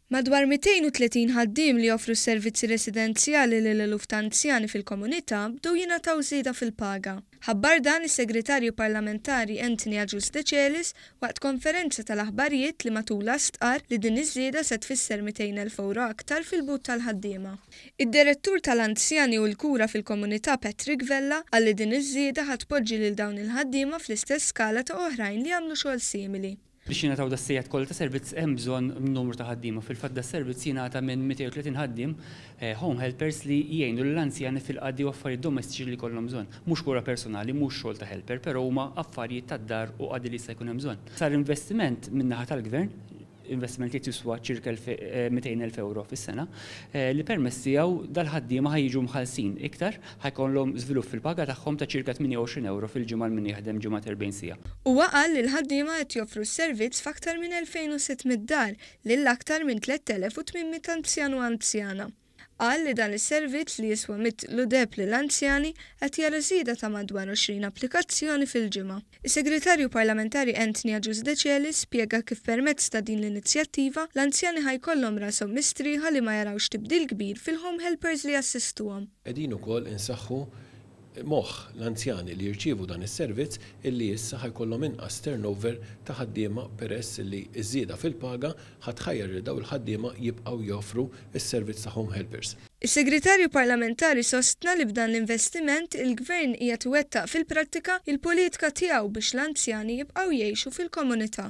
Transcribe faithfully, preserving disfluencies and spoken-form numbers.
Madwar mitejn u tletin ħaddiem li joffru servizzi residenzjali lil eluf ta' anzjani fil-komunità bdew jingħataw żieda fil-paga. Ħabbar dan is-Segretarju Parlamentari Anthony Agius Decelis waqt konferenza tal-aħbarijiet li matulha stqar li din iż-żieda se tfisser mitejn elf euro aktar fil-but tal-ħaddiema. Id-Direttur tal-Anzjani u l-Kura fil-Komunità Patrick Vella qal li din iż-żieda ħa tpoġġi lil dawn il-ħaddiema fl-istess skala ta' oħrajn li jagħmlu xogħol simili. Biex jingħataw das-sigħat kollha ta' servizz hemm bżonn numru ta' ħaddiema. Fil-fatt das-servizz jingħata minn mitejn u tletin ħaddiem eh, home helpers li jgħinu l-anzjani fil-qadi u affarijiet domestiċi li jkollhom bżonn. Mhux kura personali, mhux xogħol ta' helper, però huma affarijiet tad-dar u qadi li jista' jkun hemm bżonn. Sar investiment min-naħa tal-gvern, investiment li jiswa ċirka mitejn elf euro fis-sena, eh, li permezz tiegħu dal-ħaddiema ħa jiġu mħallsin iktar, ħa jkollhom żvilupp fil-paga tagħhom ta' ċirka tmienja u għoxrin euro fil-ġimgħa min jaħdem ġimgħa erbgħin siegħa. Huwa qal li l-ħaddiema qed joffru s-servizz f'aktar minn elfejn u sitt mitt dar lil aktar minn tliet elef u tmien mitt anzjan u anzjana. Qal li dan is-servizz li jiswa mitlu deheb lill-anzjani qed jara żieda ta' madwar għoxrin applikazzjoni fil-ġimgħa. Is-Segretarju Parlamentari Anthony Agius Decelis spjega kif permezz ta' din l-inizjattiva l-anzjani ħa jkollhom rashom mistrieħa li ma jarawx tibdil kbir fil-home helpers li jassistuhom. Qegħdin ukoll insaħħu moħħ l-anzjani li jirċievu dan is-servizz illi issa ħa jkollhom inqas turnover ta' ħaddiema, peress li ż-żieda fil-paga ħa tħajjar li daw il-ħaddiema jibqgħu joffru s-servizz ta' home helpers. Is-Segretarju Parlamentari sostna li b'dan l-investiment il-Gvern qiegħed iwettaq fil-prattika il-politika tiegħu biex l-anzjani jibqgħu jgħixu fil-komunità.